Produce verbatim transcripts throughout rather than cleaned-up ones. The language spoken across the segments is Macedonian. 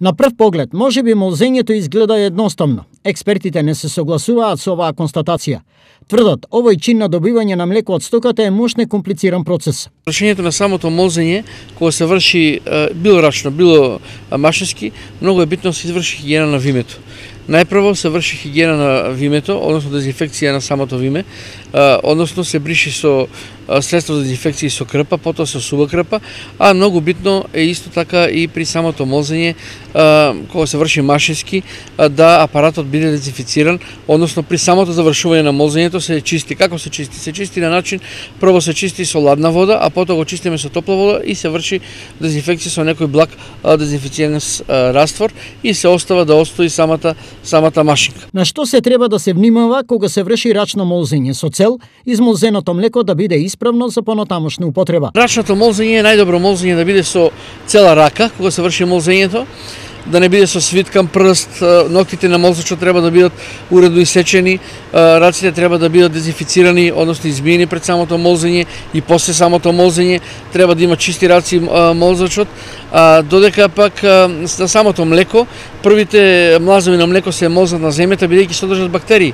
На прв поглед, можеби молзењето изгледа едноставно. Експертите не се согласуваат со оваа констатација. Тврдат, овој чин на добивање на млеко од стоката е мощно компlicиран процес. Вршењето на самото молзење, кога се врши било рачно, било машински, многу е битно да се изврши хигиена на вимето. Најпрво се врши хигиена на вимето, односно дезинфекција на самото виме, односно се бриши со средство за дезинфекција со крпа, потоа со сува крпа, а многу битно е исто така и при самото молзење, кога се врши машински, да апаратот биде дезинфициран, односно при самото завршување на молзењето се чисти. Како се чисти? Се чисти на начин, прво се чисти со ладна вода, а потоа го чистиме со топла вода и се врши дезинфекција со некој благ дезинфициран раствор и се остава да остои самата самата машинка. На што се треба да се внимава кога се врши рачно молзење со цел измолзеното млеко да биде исправно за понатамошна употреба? Рачното молзење е најдобро молзење да биде со цела рака кога се врши молзењето, да не биде со свиткан прст, ноктите на молзачот треба да бидат уредно исечени, раците треба да бидат дезинфицирани, односно измиени пред самото молзење и после самото молзење треба да има чисти раци молзачот, а додека пак на самото млеко, првите млазови на млеко се молзат на земјата бидејќи содржат бактерии.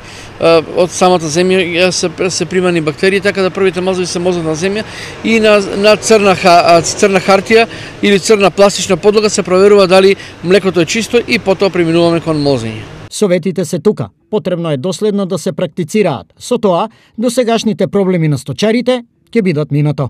Од самата земја се, се примани бактерии, така да првите млазови се молзат на земја и на, на црна, црна хартија или црна пластична подлога се проверува дали млекото е чисто и потоа преминуваме кон молзење. Советите се тука. Потребно е доследно да се практицираат. Со тоа, досегашните проблеми на сточарите ќе бидат минато.